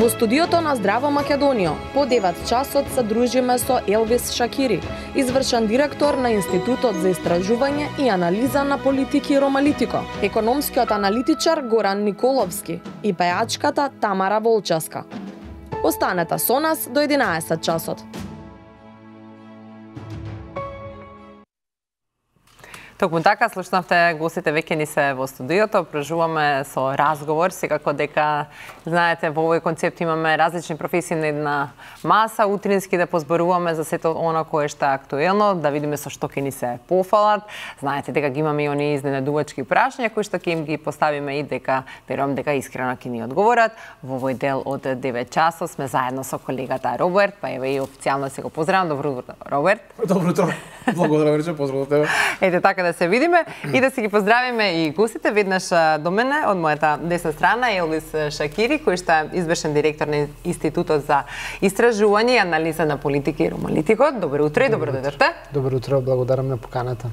Во студиото на Здраво Македонија, по 9 часот се дружиме со Елвис Шакири, извршен директор на Институтот за истражување и анализа на политики Ромалитико, економскиот аналитичар Горан Николовски и пејачката Тамара Волческа. Останете со нас до 11 часот. Токму така, слушнавте, гостите веќе ни се во студиото, прежуваме со разговор, секако дека, знаете, во овој концепт имаме различни професии на една маса, утрински да позборуваме за сето она кое што е актуелно, да видиме со што ќе ни се пофалат. Знаете дека ги имаме и они изненадувачки прашања кои што ќе им ги поставиме и дека, верувам дека искрено ќе ни одговорат. Во овој дел од 9 часот сме заедно со колегата Роберт, па еве и официјално се го поздравам. Добро утро, Роберт. Добро утро. Благодарам, Рече, поздрав до тебе. Ете така да се видиме и да си ги поздравиме и гостите. Веднаш до мене, од мојата десна страна, Елвис Шакири, кој што е извршен директор на Институтот за истражување и анализа на политики Ромалитико. Добро утро и добро дојдовте. Добро утро, благодарам на поканата.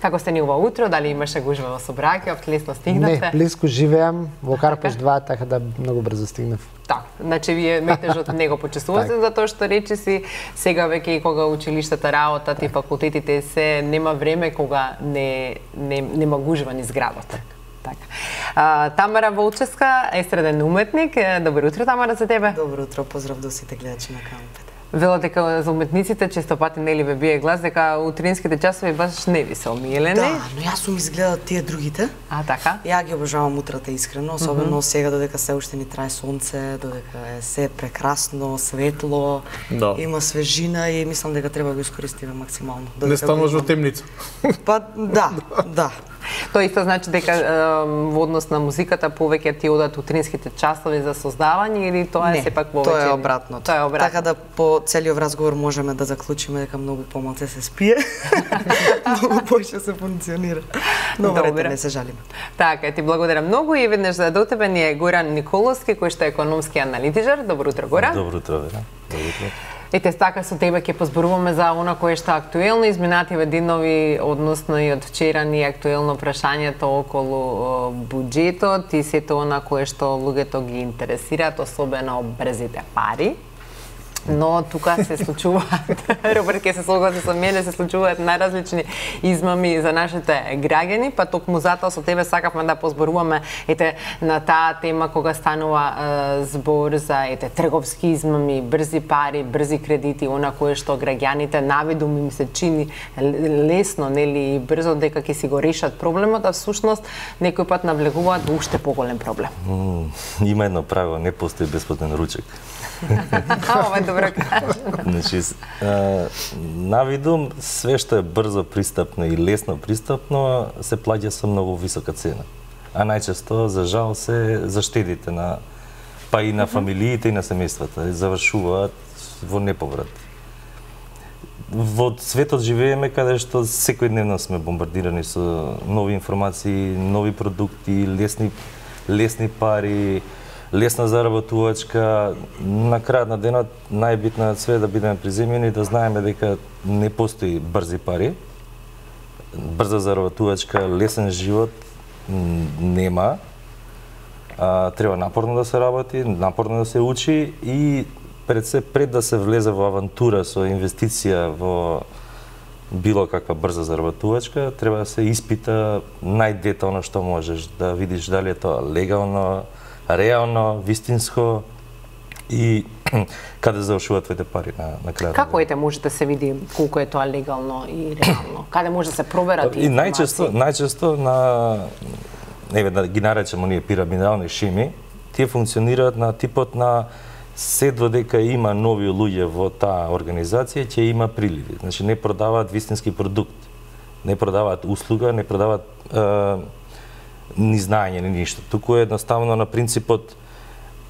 Како сте ни ова утро? Дали имаше гужва во Собракиот, лесно стигнавте? Не, близко живеам во Карпеш 2, така да многу брзо стигнав. Така, значи вие метежот не го почувствувате затоа што речиси сега веќе и кога училиштата работат и факултетите се нема време кога нема гужва низ градот. Така. Тамара Волческа, естраден уметник. Добро утро, Тамара, за тебе. Добро утро, поздрав до сите гледачи на кампите. Вело дека за уметниците често пати нели ве бие глас дека утринските часови баш не ви се омилени. Да, но јас сум изгледал тие другите. А, така? Ја ги обожавам утрата искрено, особено сега додека се уште ни трае сонце, додека е се прекрасно, светло, има свежина и мислам дека треба да го искористиме максимално. Не стануваш во темница. Па да. Тоа исто значи дека во однос на музиката повеќе ти одат утринските часови за создавање или тоа е сепак повеќе? Тоа е обратно. Така да по целиот разговор можеме да заклучиме дека многу помалку се спие, многу поише се функционира. Но верете, не се жалиме. Така, ти благодарам многу и веднаш до тебе ни е Горан Николовски, кој што е економски аналитичар. Добро утро, Горан. Добро утро, Вера. Добро утро. Ете, така со тебе ќе позборуваме за она кое што е актуелно, изминативе денови, односно и од вчера ни е актуелно прашањето околу буџетот и сето она кое што луѓето ги интересираат, особено брзите пари. Но тука се случуваат, Роберт ќе се согласи со мене, се случуваат најразлични измами за нашите граѓани, па токму затоа со тебе сакавме да позборуваме на таа тема кога станува збор за трговски измами, брзи пари, брзи кредити, она кое што граѓаните навидум им се чини лесно, нели и брзо дека ќе си го решат проблемот, а всушност некој пат навлегуваат во уште поголем проблем. Има едно правило, не постои бесплатен ручек. Ова е добро кажано. Значи, навидум, све што е брзо пристапно и лесно пристапно се плаќа со многу висока цена. А најчесто, за жал, се заштедите па и на фамилиите и на семејствата завршуваат во неповрат. Во светот живееме каде што секојдневно сме бомбардирани со нови информации, нови продукти, лесни пари, лесна заработувачка. На крајот на денот најбитно е све да бидеме приземени и да знаеме дека не постои брзи пари. Брза заработувачка, лесен живот нема. Треба напорно да се работи, напорно да се учи и пред да се влезе во авантура со инвестиција во било каква брза заработувачка, треба да се испита најдетално што можеш, да видиш дали е тоа легално, реално, вистинско и каде завршуваат твоите пари на крајот. Како може да се види колку е тоа легално и реално? Каде може да се проверат информации? И најчесто да ги наречеме ние пирамидални шеми, тие функционираат на типот на се додека има нови луѓе во таа организација, ќе има приливи. Значи не продаваат вистински продукт, не продаваат услуга, не продаваат ни знаење, ни ништо. Туку е едноставно на принципот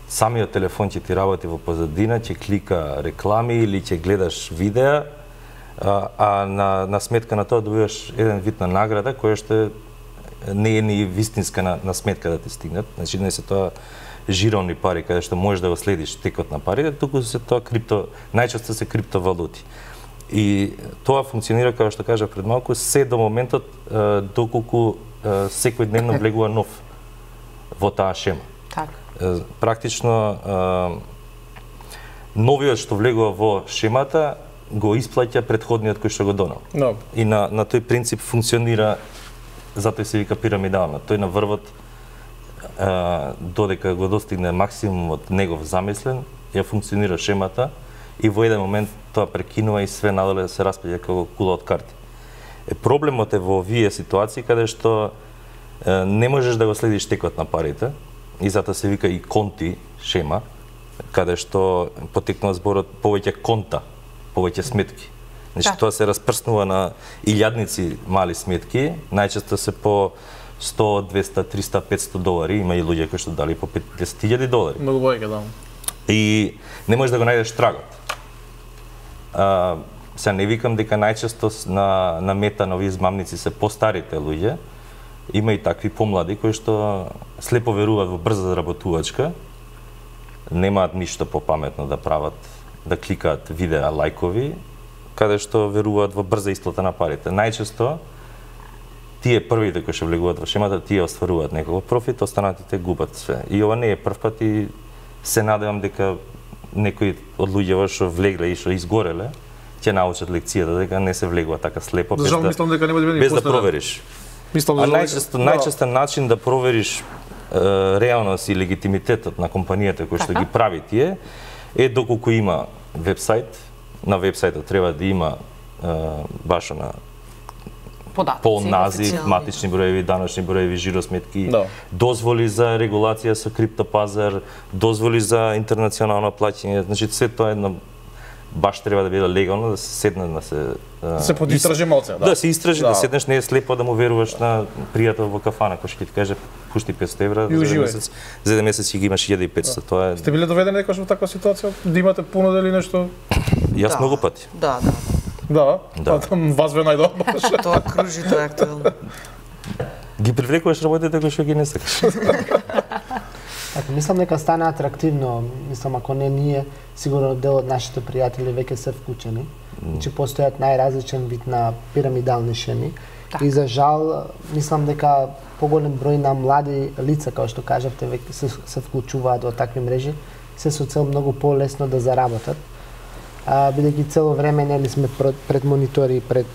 самиот телефон ќе ти работи во позадина, ќе клика реклами или ќе гледаш видеа, а на сметка на тоа добиваш еден вид на награда која што не е ни вистинска на сметка да ти стигнат. Значи не се тоа жировни пари каде што можеш да го следиш текот на парите, туку се тоа најчесто се криптовалути. И тоа функционира, како што кажа пред малку, се до моментот доколку секој дневно влегува нов во таа шема. Так. Практично новиот што влегува во шемата го исплаќа претходниот кој што го донел. No. И на тој принцип функционира, затоа се вика пирамидално. Тој на врвот додека го достигне максимумот негов замислен, ја функционира шемата и во еден момент тоа прекинува и све надоле се распаѓа како кула од карти. Проблемот е во овие ситуации каде што не можеш да го следиш текот на парите и затоа се вика и конти шема, каде што потекнува зборот повеќе конта, повеќе сметки. Значи тоа се распрснува на илјадници мали сметки, најчесто се по 100, 200, 300, 500 долари, има и луѓе кои што дали по 50.000 долари. Многу повеќе, да. И не можеш да го најдеш трагот. Сега не викам дека најчесто на мета на овие измамници се постарите луѓе, има и такви помлади кои што слепо веруваат во брза заработувачка, немаат ништо попаметно да прават, да кликаат видеа, лајкови, каде што веруваат во брза исплата на парите. Најчесто тие првите кои што влегуваат во шемата, тие остваруваат некој профит, останатите губат све. И ова не е прв пат и се надевам дека некои од луѓето што влегле и што изгореле ќе научат лекцијата дека не се влегува така слепо без да провериш. Најчестен начин да провериш реалност и легитимитетот на компанијата кои што ги прави тие е доколку има вебсайт. На вебсајтот треба да има баш на пол назив, матични броеви, даночни броеви, жиросметки, дозволи за регулација со криптопазар, дозволи за интернационално плаќање, значи се тоа е баш треба да биде легално, да се седне да се подистражи малце, да. Да се истражи, да седнеш, не е слепо да му веруваш на пријател во кафана кој ќе ти каже пушти 500 евра за еден месец ќе ги имаш 1500. Тоа е. Сте биле доведени некогаш во таква ситуација да имате понуда или нешто? Јас многу пати. Да. Да, там вас ве најдобро. Тоа кружи, тоа е актуелно. Ги привлекуваш работите кои што ги не сакаш. Мислам дека стана атрактивно, мислам ако не ние, сигурно дел од нашите пријатели веќе се вклучени. Значи постојат најразличен вид на пирамидални шеми и за жал мислам дека поголем број на млади лица, како што кажавте, веќе се вклучуваат во такви мрежи, се со цел многу полесно да заработат. Бидејќи цело време нели сме пред монитори, пред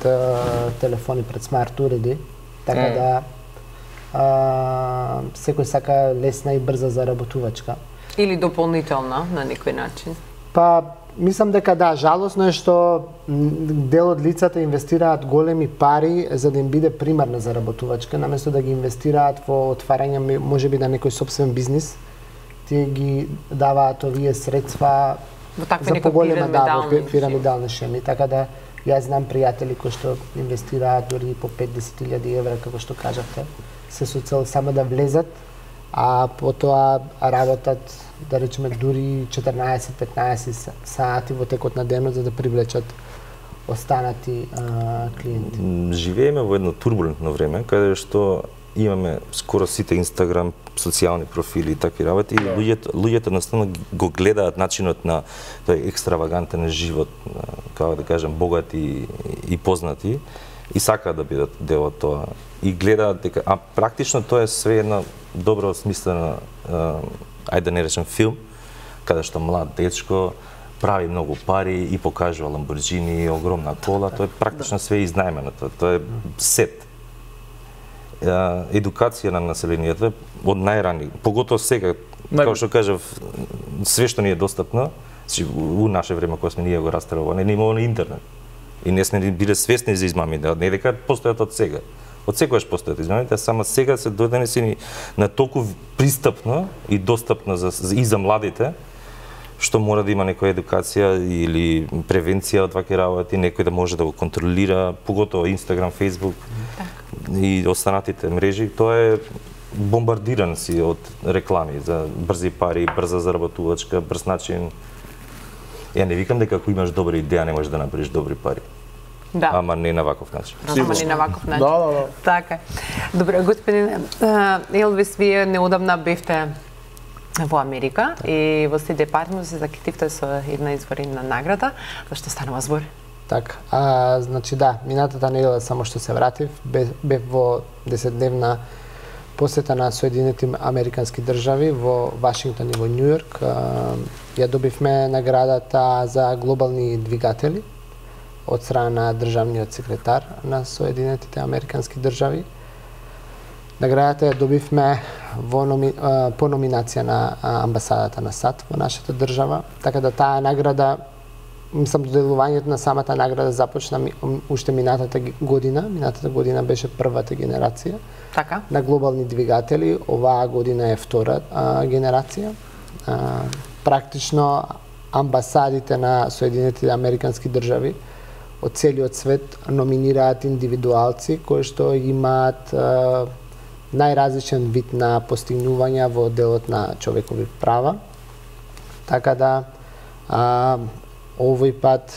телефони, пред смарт уреди, така да секој сака лесна и брза заработувачка. Или дополнителна на некој начин? Па, мислам дека да, жалосно е што дел од лицата инвестираат големи пари за да им биде примарна заработувачка, наместо да ги инвестираат во отварање можеби на некој собствен бизнис, тие ги даваат овие средства за поголема пирамидални шеми, така да јас знам пријатели кои што инвестираат дури по 50.000 евра, како што кажавте, се со цел само да влезат, а потоа работат, да речеме, дури 14-15 сати во текот на денот за да привлечат останати клиенти. Живееме во едно турбулентно време, каде што имаме скоро сите Инстаграм, социјални профили и такви работи, и луѓето наставно го гледаат начинот на тој екстравагантен живот, како да кажем, богати и познати, и сакаат да бидат дел од тоа. И гледаат дека, а практично тоа е све една добро смислена, ајде да не речем филм, каде што млад дечко прави многу пари и покажува Ламборџини, огромна кола, тоа е практично све изнајмено, тоа е сет. Едукација на населението од најрани, поготово сега, како што кажав, све што ни е достапно, у наше време кога сме ние го растерало, не имало на интернет. И не сме биле свесни за измамите, не дека постојат од сега. Од секогаш постојат измамите, а само сега се донесени на толку пристапно и достапно и за младите, што мора да има некоја едукација или превенција од вакви работи, некој да може да го контролира, поготово Инстаграм, Фејсбук и останатите мрежи, тоа е бомбардиран си од реклами за брзи пари, брза заработувачка, брз начин. Ја не викам дека ако имаш добра идеја не можеш да направиш добри пари. Да. Ама не на ваков начин. Ама не на ваков начин. Да. Така. Добре, господине Елвис, вие неодамна бевте во Америка и во Стейт Департмент се закитивте со една изварена награда. За што станува збор? Така, значи да, минатата недела само што се вратив, бев во 10-дневна посета на Соединетите Американски држави во Вашингтон и во Њујорк. Ја добивме наградата за глобални двигатели од страна на државниот секретар на Соединетите Американски држави. Наградата ја добивме по номинација на амбасадата на САД во нашата држава, така да таа награда, мислам, доделувањето на самата награда започна уште минатата година. Минатата година беше првата генерација на глобални двигатели, оваа година е втора генерација. Практично амбасадите на Соединетите Американски држави од целиот свет номинираат индивидуалци кои што имаат најразличен вид на постигнувања во делот на човекови права. Така да овој пат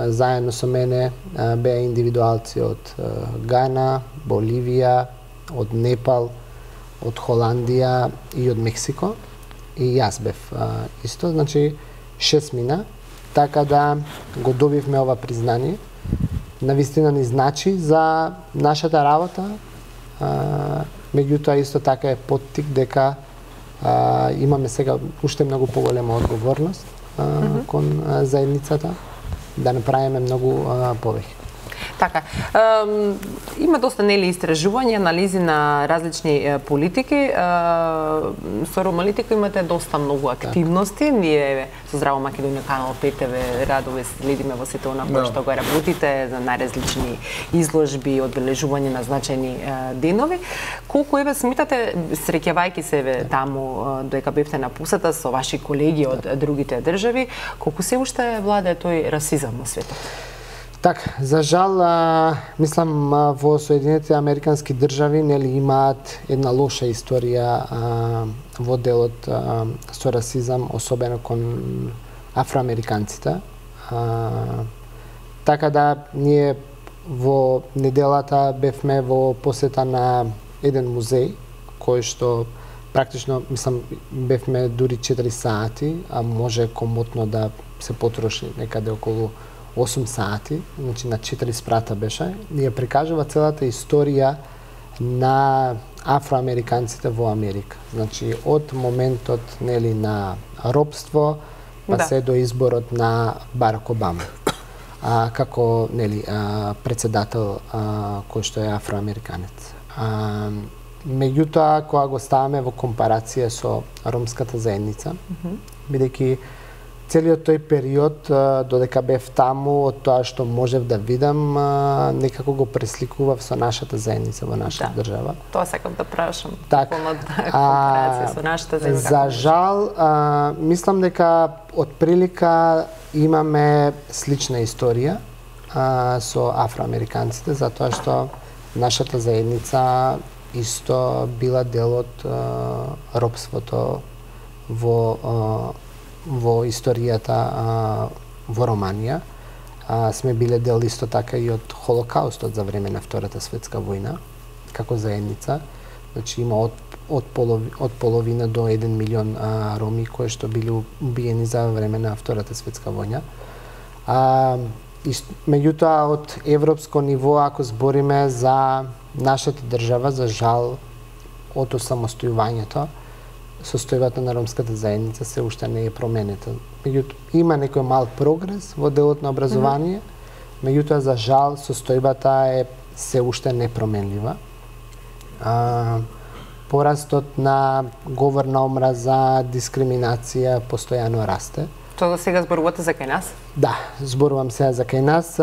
заедно со мене беа индивидуалци од Гана, Боливија, од Непал, од Холандија и од Мексико. И јас бев исто, значи 6 мина, така да го добивме ова признание. Навистина ни значи за нашата работа, меѓутоа исто така е поттик дека имаме сега уште многу поголема одговорност кон заедницата, да направиме многу повеќе. Така, има доста истражувања, анализи на различни политики. Со Ромалитико имате доста многу активности. Ние со Здраво Македонија канал ПТВ радо ве следиме во сето она кој што го работите за најразлични изложби, одбележување на значајни денови. Колку еве сметате, среќавајќи се таму дека бевте на посета со ваши колеги од другите држави, колку се уште владее тој расизам во светот? Така, за жал, мислам, во Соединетите Американски држави имаат една лоша историја во делот со расизам, особено кон афроамериканците. Така да, ние во неделата бевме во посета на еден музеј, кој што практично, мислам, бевме дури 4 сати, а може комотно да се потроши некаде околу 8 сати, значи на 4 спрата беше, ја прикажува целата историја на афроамериканците во Америка. Значи од моментот на робство па се до изборот на Барак Обама како председател кој што е афроамериканец. Меѓутоа, кога го ставаме во компарација со ромската заедница, бидејќи целиот тој период, додека бев таму, од тоа што можев да видам, некако го пресликував со нашата заедница во нашата држава. Тоа сакам да прашам. Компарација со нашата заедница. За жал, мислам дека од прилика имаме слична историја со афроамериканците, затоа што нашата заедница исто била дел од робството во историјата во Романија. Сме биле дел исто така и од Холокаустот за време на Втората светска војна, како заедница. Значи има од половина до 1 милион роми кои што биле убиени за време на Втората светска војна. Меѓутоа, од европско ниво, ако збориме за нашата држава, за жал, од осамостојувањето, состојбата на ромската заедница се уште не е променета. Меѓутоа, има некој мал прогрес во делот на образование, меѓутоа, за жал, состојбата е се уште непроменлива. Порастот на говор на омраза, дискриминација постојано расте. Тоа сега зборувате за кај нас? Да, зборувам сега за кај нас.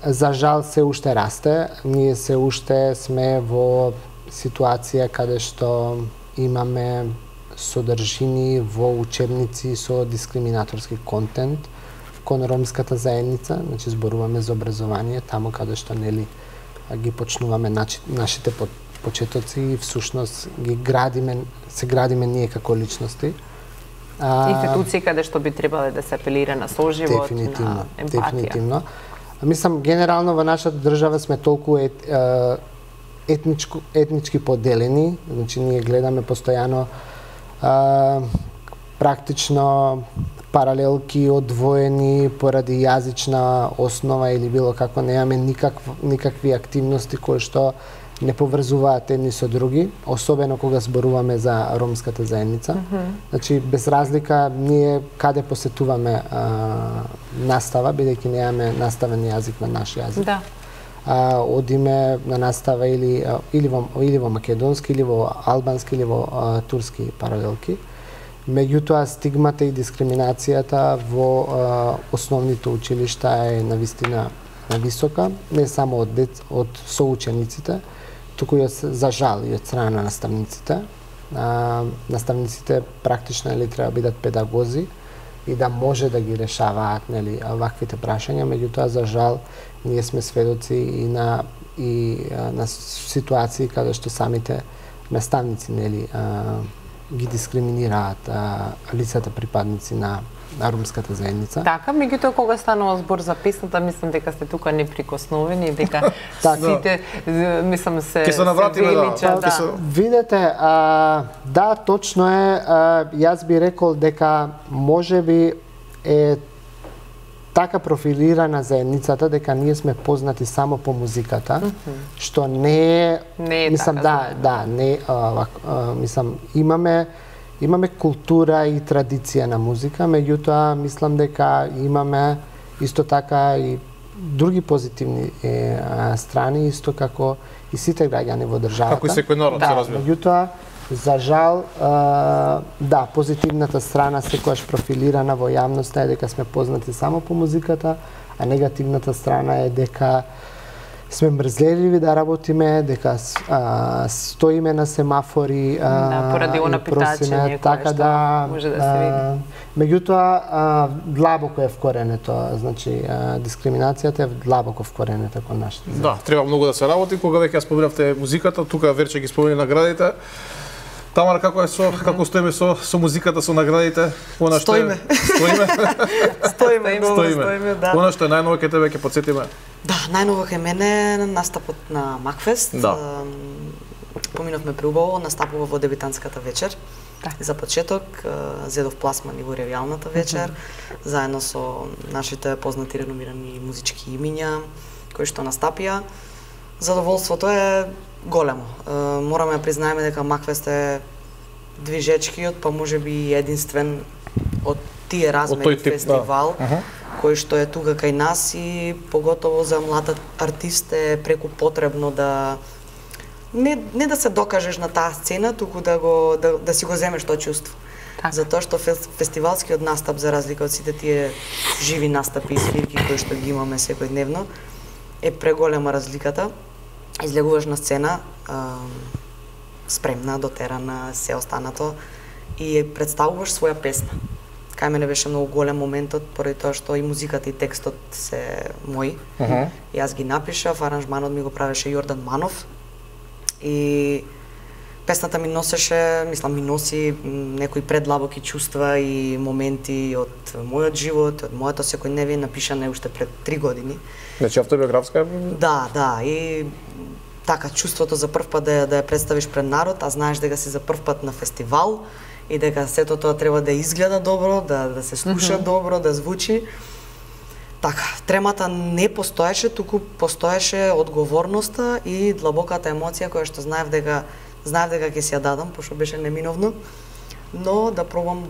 За жал се уште расте. Ние се уште сме во ситуација каде што имаме содржини во учебници со дискриминаторски контент кон ромската заедница, значи зборуваме за образование, таму каде што ги почнуваме нашите почетоци и всушност се градиме ние како личности. Институции каде што би требале да се апелира на соживот, на емпатија. Дефинитивно. Мислам, генерално во нашата држава сме толку етнички поделени, значи ние гледаме постојано практично паралелки одвоени поради јазична основа или било како, немаме никакви активности кои што не поврзуваат едни со други, особено кога зборуваме за ромската заедница. Значи, без разлика, ние каде посетуваме настава, бидејќи немаме наставен јазик на наш јазик. Да. Одиме на настава или во македонски, или во албански, или во турски паралелки. Меѓутоа, стигмата и дискриминацијата во основните училишта е навистина висока, не само од соучениците, туку и за жал и од страна на наставниците. Наставниците практично треба бидат педагози и да може да ги решаваат ваквите прашања, меѓутоа за жал ние сме сведоци и на ситуации каде што самите наставници ги дискриминираат лицата припадници на ромската заедница. Така, меѓутоа кога станува збор за песната, мислам дека сте тука неприкосновени, дека сите мислам се величат. Видете, да, точно е, јас би рекол дека можеби е така профилирана заедницата дека ние сме познати само по музиката, што не е мислам така, не мислам имаме култура и традиција на музика, меѓутоа мислам дека имаме исто така и други позитивни страни, исто како и сите граѓани во државата. Како и секој народ се развива. Меѓутоа, за жал, да, позитивната страна секогаш профилирана во јавноста е дека сме познати само по музиката, а негативната страна е дека сме мрзеливи да работиме, дека стоиме на семафори, поради она питачење така да може да се види. Меѓутоа, длабоко е вкоренето, значи дискриминацијата е длабоко вкоренета кон нашите. Да, треба многу да се работи. Кога веќе ја споменавте музиката, тука Верче ги спомени наградите. Тамара, како стоиме со музиката, со наградите? Стоиме. Стоиме, да. Она што е најново кај тебе ќе потсетиме? Да, најново кај мене настапот на Макфест. Да. Поминовме преубаво, настапува во дебитантската вечер. За почеток, зедов пласман и во ревијалната вечер, заедно со нашите познати реномирани музички имиња, кои што настапија. Задоволството е големо. Мораме да признаеме дека Макфест е движечкиот, па можеби единствен од тие размери фестивал, кој што е тука кај нас и поготово за млад артист е преку потребно да не да се докажеш на таа сцена, туку да си го земеш тоа чувство. Затоа што фестивалскиот настап, за разлика од сите тие живи настапи и свирки кои што ги имаме секојдневно, е преголема разликата. Излегуваш на сцена, спремна, дотерана, се останато и представуваш своја песна. Кај мене беше многу голем моментот, поради тоа што и музиката и текстот се мои. Јас ги напишав, аранжманот ми го правеше Јордан Манов и песната ми носеше, мислам, ми носи некои предлабоки чувства и моменти од мојот живот, од моето секојдневие, напишана уште пред 3 години. Значи автобиографска? Да, и така чувството за прв пат да ја представиш пред народ, а знаеш дека си за прв пат на фестивал и дека сето тоа треба да изгледа добро, да се слуша добро, да звучи. Така, тремата не постоеше, туку постоеше одговорноста и длабоката емоција која што знаев дека ќе си ја дадам, пошто беше неминовно, но да пробам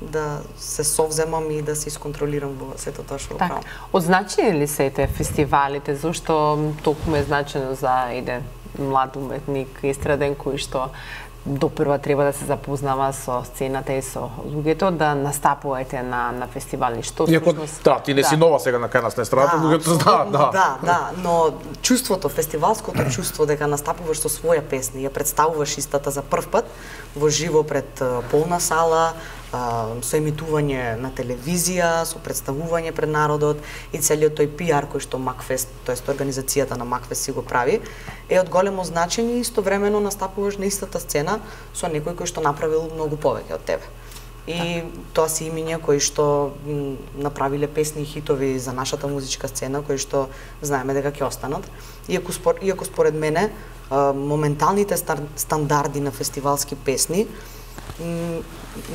да се совземам и да се исконтролирам во сето тоа што правам. Одзначени ли се те фестивалите, зашто токму е значено за еден млад уметник, естраден кој што допрва треба да се запознава со сцената и со луѓето, да настапувате на фестивали, што всушност... Да, ти не си нова сега на кај нас на естрадата, луѓето знаат, да. Да, но чувството, фестивалското чувство дека настапуваш со своја песна и ја представуваш истата за прв пат во живо пред полна сала, со емитување на телевизија, со представување пред народот и целиот тој пиар кој што Макфест, тоест организацијата на Макфест си го прави, е од големо значење и истовремено настапуваш на истата сцена со некој кој што направил многу повеќе од тебе. И тоа се имиња кои што направиле песни и хитови за нашата музичка сцена, кои што знаеме дека ќе останат. Иако според мене моменталните стандарди на фестивалски песни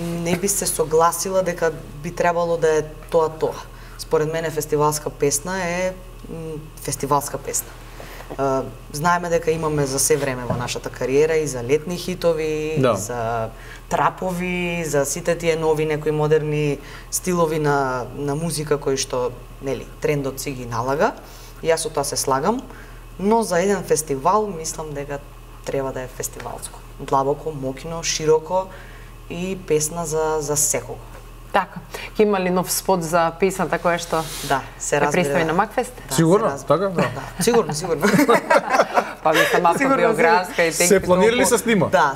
не би се согласила дека би требало да е тоа. Според мене фестивалска песна е фестивалска песна. Знаеме дека имаме за се време во нашата кариера и за летни хитови, Да. за трапови, за сите тие нови некои модерни стилови на музика кои што, нели, трендот си ги налага. И јас со тоа се слагам, но за еден фестивал мислам дека треба да е фестивалско. Длабоко, моќно, широко и песна за секого. Така. Ќе има ли нов спот за песната која што Да, се ја разбира. представи на Макфест? Да, Сигурно, се разбира. така? Да. Да, сигурно, сигурно. Па ви сама автобиографска и Се планирали се снима? Да,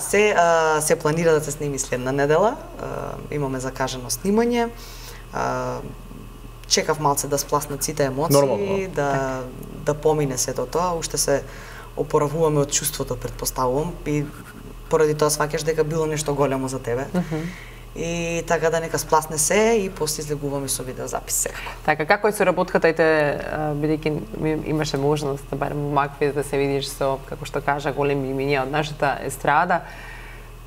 се планира да се сними следна недела. Имаме закажано снимање. Чекав малце да спласнат сите емоции, Нормално. да помине сето тоа, уште се опоравуваме од чувството, предпоставувам, и поради тоа сваќаш дека било нешто големо за тебе. И така да нека спласне се и после излегуваме со видеозапис секако. Така, како е соработката, бидејќи имаше можност да барем во Макфест да се видиш со, како што кажа, големи имиња од нашата естрада,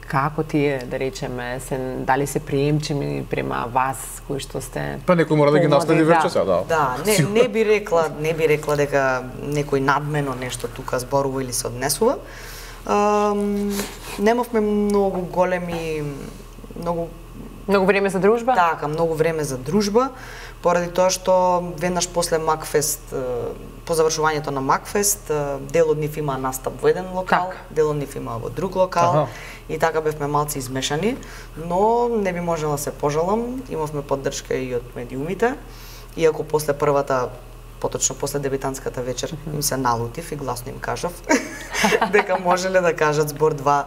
како тие, да речеме, дали се приемчиви према вас, кои што сте... Па некој мора да ги наследи помлади, вече сега, да. Да, не би рекла дека некој надмено нешто тука зборува или се однесува. Немавме многу големи, Многу време за дружба? Така, многу време за дружба, поради тоа што веднаш после Макфест, по завршувањето на Макфест, дел од нив има настап во еден локал, дел од нив има во друг локал, и така бевме малци измешани, но не би можела се пожалам, имавме поддршка и од медиумите, иако после првата, поточно после дебитантската вечер, им се налутив и гласно им кажав дека можеле да кажат збор 2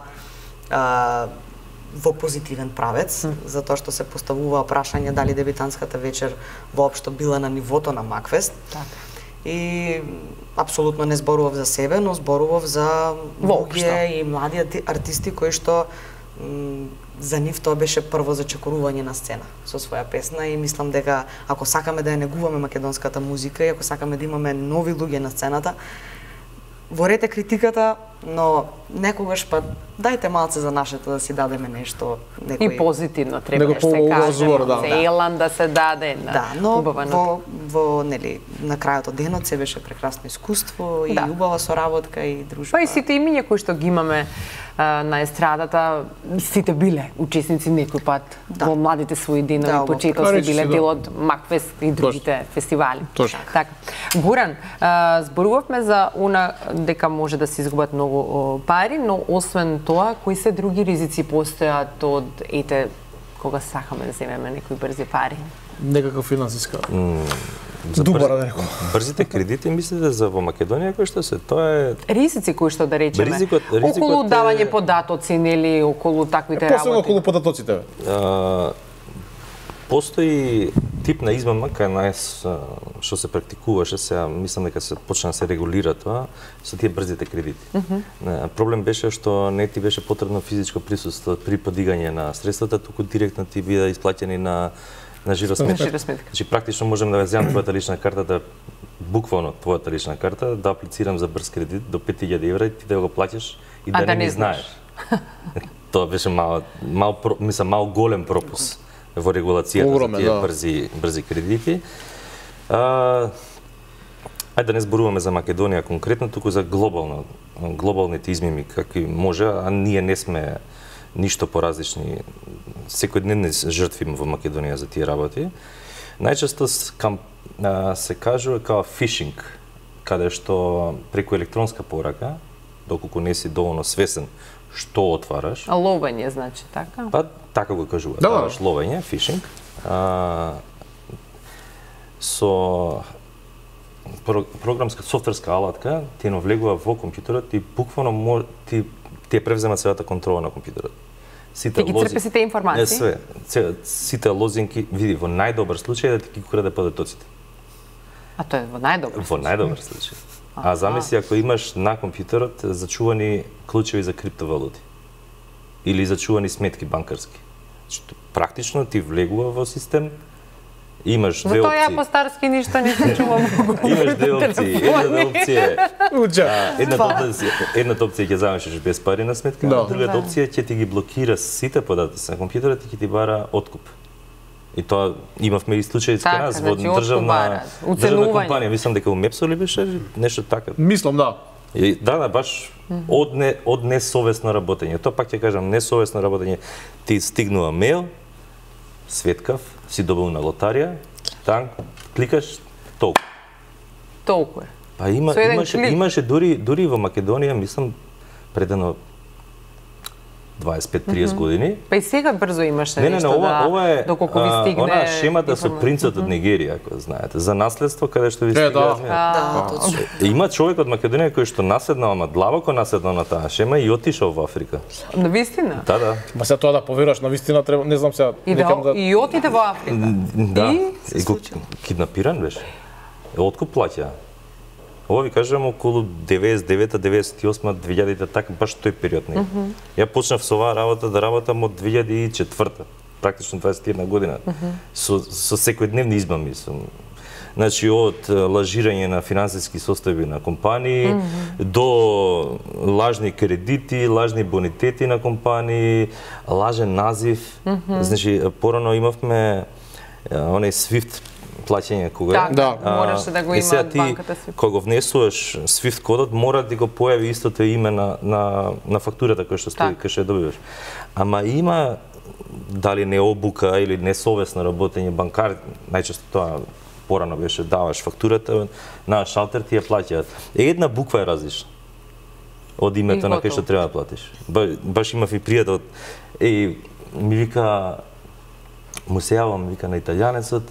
во позитивен правец, затоа што се поставува прашање дали дебитантската вечер воопшто била на нивото на Макфест. Така. И апсолутно не зборував за себе, но зборував за луѓе и млади артисти кои што за нив тоа беше прво зачекорување на сцена со своја песна, и мислам дека ако сакаме да ја негуваме македонската музика и ако сакаме да имаме нови луѓе на сцената, ворете критиката, но некогаш па дајте малце за нашето да си дадеме нешто, некој... И позитивно треба да се разговор, каже, да. за Елан да се даде, Да, но убава во нели на крајот од денот се беше прекрасно искуство и убава соработка и дружба. Па и сите имиња кои што ги имаме на естрадата, сите биле учесници некој пат во младите своји денови, почетоци биле дел од Макфест и другите фестивали. Така. Гуран, зборувавме за она дека може да се изгубат многу пари, но освен тоа, кои се други ризици постојат од кога сакаме да земеме некои брзи пари? Некаква финансиска. Добра да рекол. Брзите кредити мислите за во Македонија кој што се тоа е ризици кои што да речеме околу давање податоци, нели, околу таквите работи. Посебно околу податоците. Постои тип на измама кај нас што се практикуваше, сега мислам дека се почна да се регулира тоа со тие брзите кредити. Проблем беше што не ти беше потребно физичко присуство при подигање на средствата, туку директно ти биде исплаќени на жиросметка. Значи практично можам да ве земам твојата лична карта, да буквално твојата лична карта, да аплицирам за брз кредит до 5000 евра и ти да го плаќаш и да не знаеш. Тоа беше мал голем пропуск во регулацијата за тие брзи кредити. Ајде да не зборуваме за Македонија конкретно, туку за глобалните измими какви може, а ние не сме ништо поразлични. Секој ден не жртвиме во Македонија за тие работи. Најчесто се кажува као фишинг, каде што преку електронска порака, доколку не си доволно свесен што отвараш. А ловење, значи, така? Па, така го кажува. Даваш ловење, фишинг. Со програмска софтверска алатка ти навлегува во компјутерот и буквално ти превзема целата контрола на компјутерот. Ти ги црпи сите информации? Све. Сите лозинки, види, во најдобар случај да ти ги краде податоците. А тоа е во најдобар случај? Во најдобар случај. А замисли ако имаш на компјутерот зачувани клучеви за криптовалути или зачувани сметки банкарски. Практично ти влегува во систем, имаш две опции. За тоа ја по-старски ништо не се чувам. Имаш две опции. Едната опција ќе замешиш без пари на сметка, а другата опција ќе ти ги блокира сите податоци на компјутерот и ќе ти бара откуп. И тоа имавме и случаи кај нас во државна компанија, мислам дека у Мепсо ли беше нешто така. Мислам, да. Да, баш од несовесно работење. Тоа пак ќе кажам, несовесно работење. Ти стигнува мејл, светкав, си добил на лотарија, танк, кликаш, толку. Толку е. Па имаше дури во Македонија, мислам, предано 25-30 години. Па и сега брзо имаше нешто ова е доколку ви стигне. Она шемата со принцот од Нигерија, ако знаете, за наследство каде што ви стига. точно. Има човек од Македонија кој што наседнал, ама длабоко наседнал на таа шема и отишол во Африка. На вистина? Да. Ма се тоа да поверуваш на вистина треба, не знам сега. И отиде во Африка. Да. И го киднапиран беше. Откуп плаќа. Ова ви кажам околу 99-та, 98-та, 2000-та, така баш тој период. Ја почнав со оваа работа да работам од 2004-та, практично 21 година, со секојдневни измами. Значи, од лажирање на финансиски состојби на компании, до лажни кредити, лажни бонитети на компании, лажен назив. Значи, порано имавме оној SWIFT плаќање кога мораше да го има од банката си. Кога го внесуваш SWIFT кодот, мора да го појави истото име на фактурата која што стои, која што ја добиваш. Ама има дали не обука или несовесно работење, банкар, најчесто тоа порано беше, даваш фактурата на шалтер, ти ја плаќаат. Една буква е различна од името на кој што треба да платиш. Баш имав и пријател, ми вика, му се јавам, вика на италијанецот,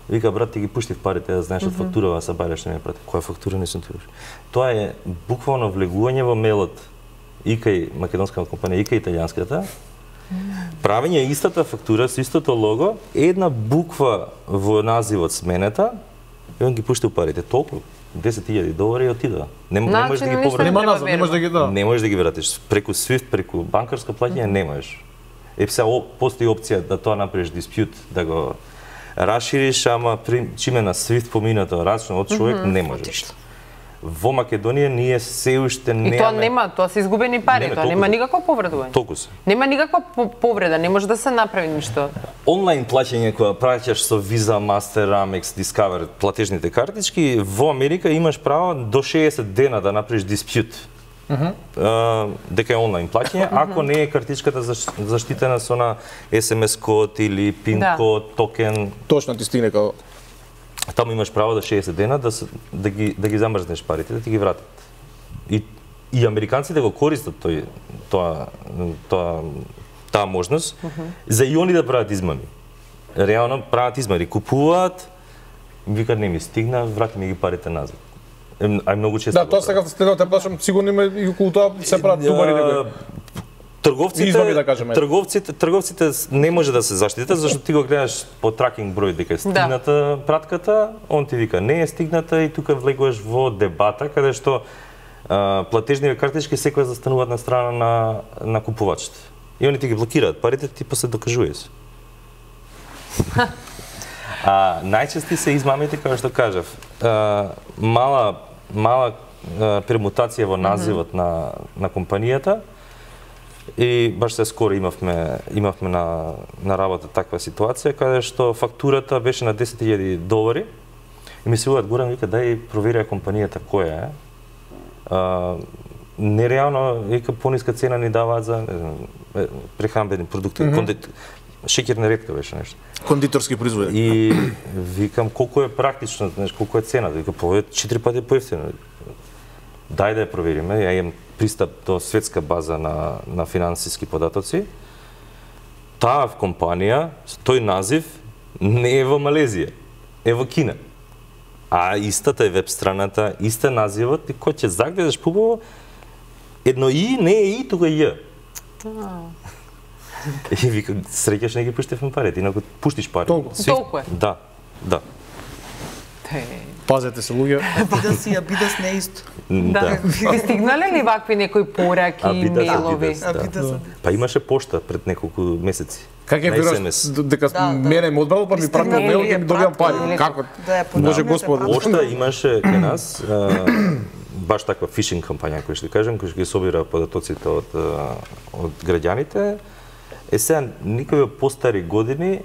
вика, брат, ти ги пуштив парите, да знаеш од фактурава, са бареш не ме прати. Која фактура не сум тираш? Тоа е буквално влегување во мејлот и кај македонската компанија, и кај италијанската, правење истата фактура со истото лого, една буква во називот сменета, и он ги пуштил парите. Толку, $10,000 и отидува. Не можеш да ги повратиш. Нема назад, не можеш да ги Не можеш да ги вратиш. Преку SWIFT, преку банкарско плаќање не можеш. Сега постои опција да тоа направиш диспјут, да го расшириш, ама чиме на SWIFT поминато рачно од човек не можеш. Во Македонија ние се уште немаме. И тоа нема, тоа се изгубени пари, тоа нема никакво повредување. Толку се. Нема никаква повреда, не може да се направи ништо. Онлайн плаќање кога праќаш со Visa, Master, Amex, Discover платежните картички, во Америка имаш право до 60 дена да направиш диспјут. Дека е онлайн плаќање, ако не е картичката заштитена со на SMS код или PIN код, токен. Точно ти стигне како Таму имаш право да 60 дена да ги замрзнеш парите, да ти ги вратат. И американците го користат таа можност за и они да прават измами. Реално прават измами, купуваат, викаат не ми стигна, врати ми ги парите назад. Ај многу често. Да, тоа сега следното те плашам, сигурно има и околу тоа се прават зубари дека Трговците не може да се заштитат, зашто ти го гледаш по тракинг број дека е стигната пратката, он ти вика не е стигната и тука влегуваш во дебата каде што платежните картички секој застануваат на страна на купувачите. И они ти ги блокираат парите, ти после докажуваш. Најчести се измамите, како што кажав. Мала премутација во називот на компанијата. И баш се скоро имавме на работа таква ситуација каде што фактурата беше на $10,000 и ми се уват Горан вика дај проверија компанијата која е. Нереално вика пониска цена ни даваат за прехранбени продукти, шеќерна ретка беше нешто. Кондиторски производи. И викам колку е практично, знаеш колку е цената, вика повеќе 4 пати поевтино. Дај да ја провериме, ја имам пристап до светска база на финансиски податоци. Таа компанија, тој назив, не е во Малезија, е во Кина. А истата е веб страната, иста називот, и кој ќе загледаш пубаво, едно и не е и, тука е. И вика, среќаш не ги пуштевме парите, инаку пуштиш пари. Толку е. Да. Пазете се луѓе. Бидас не е исто. Да. Ви стигнале ли вакви некои пораки, мејлови? Па имаше пошта пред неколку месеци. Как е веруваш дека мене ме одбрало, па ми пратил мејл и ми добивам пари. Како? Може Господ. Пошта имаше кај нас баш таква фишинг кампања, кој ќе кажем, кој ќе ги собира податоците од граѓаните. Сега никој во постари години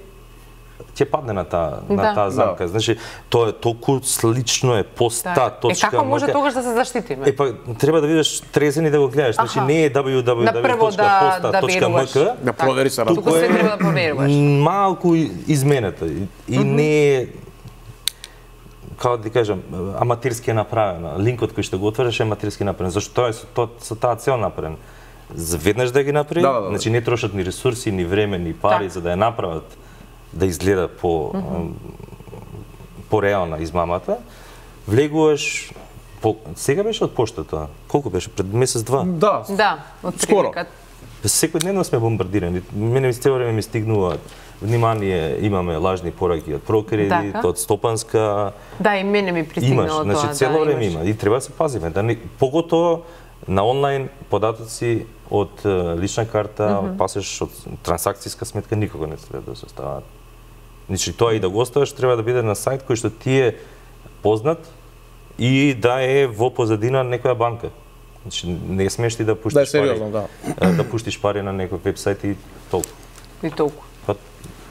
ќе падне на таа замка. Значи, тоа е толку слично е поста точка. Како може тогаш да се заштитиме? Па треба да видиш трезен и да го гледаш. Значи не е www.posta.mk. Да провери се туку се треба да проверуваш. Малку изменета и не е како да ти кажам, аматерски е направено. Линкот кој што го отвориш е аматерски направен. Зашто тоа е со таа цел направен. Веднаш да ги направи, значи не трошат ни ресурси, ни време, ни пари за да ја направат да изгледа по реална измамата. Влегуваш сега беше од поштата. Колку беше пред месец-два? Да, од скоро. Секојдневно сме бомбардирани. Мене цело време ми стигнуваат внимание, имаме лажни пораки од Прокредит, од Стопанска. Да, и мене ми пристигнало тоа. Значи цело време има и треба да се пазиме. Поготово на онлайн податоци од лична карта, од пасеш, од трансакцијска сметка никога не треба да се стават. Значи тоа и да го оставаш треба да биде на сајт кој што ти е познат и да е во позадина некоја банка. Значи не смеш ти да пуштиш сериозно, да пуштиш пари на некој вебсајт и толку. И толку.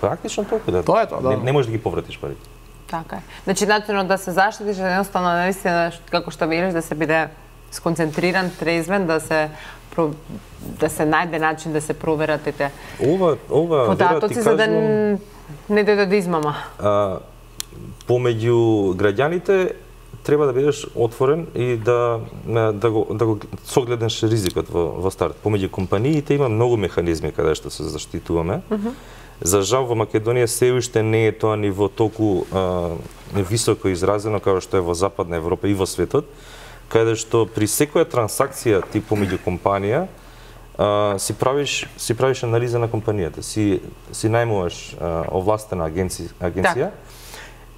Практично толку, да. Тоа е тоа, да. Не можеш да ги повратиш парите. Така е. Значи начинот да се заштитиш е едноставно наистина како што велиш да се биде сконцентриран, трезвен, да се најде начин да се проверат ете податоци за да не дојде до измама. Помеѓу граѓаните треба да бидеш отворен и да го согледаш ризикот во старт. Помеѓу компаниите има многу механизми каде што се заштитуваме. За жал во Македонија се уште не е тоа ниво толку високо изразено како што е во Западна Европа и во светот, каде што при секоја трансакција ти помеѓу компанија си правиш анализа на компанијата, си најмуваш овластена агенција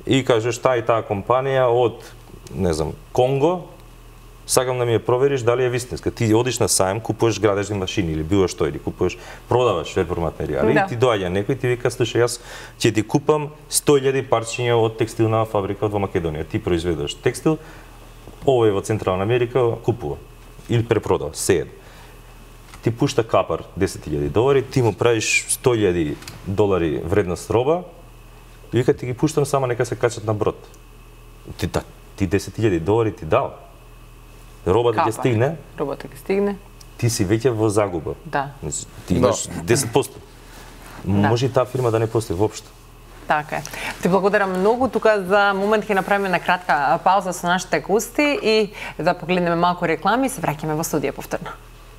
и кажеш таа и таа компанија од не знам Конго, сакам да ми ја провериш дали е вистинска. Ти одиш на сајм, купуваш градежни машини или било што, или купуваш, продаваш репроматеријали и ти доаѓа некој ти вика слушај јас ќе ти купам 100.000 парчиња од текстилна фабрика во Македонија. Ти произведуваш текстил, овој во Централна Америка купува или препродава, се. Ти пушта капар $10.000, ти му правиш $100.000 вредност роба и вика ти ги пуштам само нека се качат на брод. Ти $10.000 ти дал. Робата ќе стигне. Робата ќе стигне. Ти си веќе во загуба. Да. Ти имаш 10%. Може и таа фирма да не постои воопшто. Така е. Ти благодарам многу. Тука за момент ќе направиме на кратка пауза со нашите гости и да погледнеме малку реклами и се враќаме во студија повторно.